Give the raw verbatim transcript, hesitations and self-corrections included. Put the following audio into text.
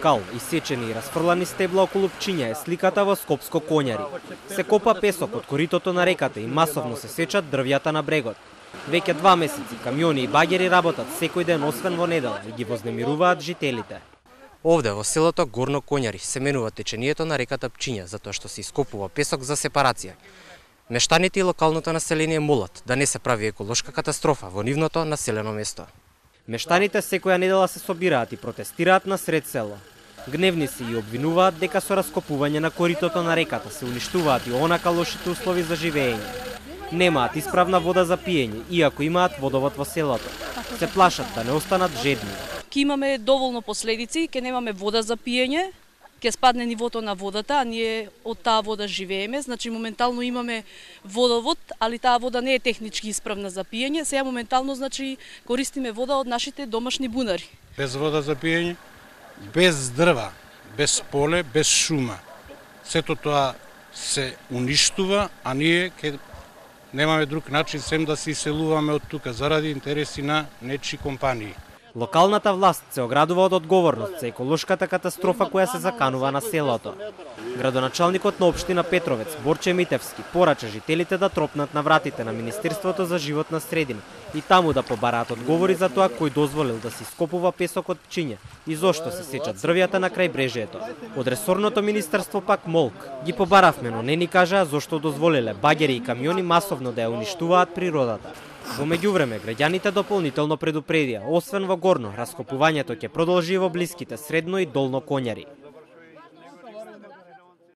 скал, исечени и расфрлани стебла околу Пчиња е сликата во Скопско Коњари. Се копа песок од коритото на реката и масовно се сечат дрвјата на брегот. Веќе два месеци камиони и багери работат секој ден освен во недела и ги вознемируваат жителите. Овде во селото Горно Коњари се менува течението на реката Пчиња затоа што се ископува песок за сепарација. Мештаните и локалното население молат да не се прави еколошка катастрофа во нивното населено место. Мештаните секоја недела се собираат и протестираат на сред село. Гневни се и обвинуваат дека со раскопување на коритото на реката се уништуваат и онака лошите услови за живеење. Немаат исправна вода за пиење, иако имаат водовод во селото. Се плашат да не останат жедни. Ке имаме доволно последици, ке немаме вода за пиење, ке спадне нивото на водата, а ние од таа вода живееме, значи моментално имаме водовод, али таа вода не е технички исправна за пиење, сега моментално значи користиме вода од нашите домашни бунари. Без вода за пиење, без дрва, без поле, без шума. Сето тоа се уништува, а ние ке немаме друг начин сем да се иселуваме од тука заради интереси на нечи компании. Локалната власт се оградува од одговорност за еколошката катастрофа која се заканува на селото. Градоначалникот на општина Петровец, Борче Митевски, порача жителите да тропнат на вратите на Министерството за животна средина и таму да побараат одговори за тоа кој дозволил да се ископува песок од Пчиња и зошто се сечат дрвјата на крајбрежјето. Од ресорното министерство пак молк. Ги побаравме, но не ни кажаа зошто дозволиле багери и камиони масовно да ја уништуваат природата. Во меѓувреме, граѓаните дополнително предупредија, освен во Горно, раскопувањето ќе продолжи во блиските Средно и Долно Коњари.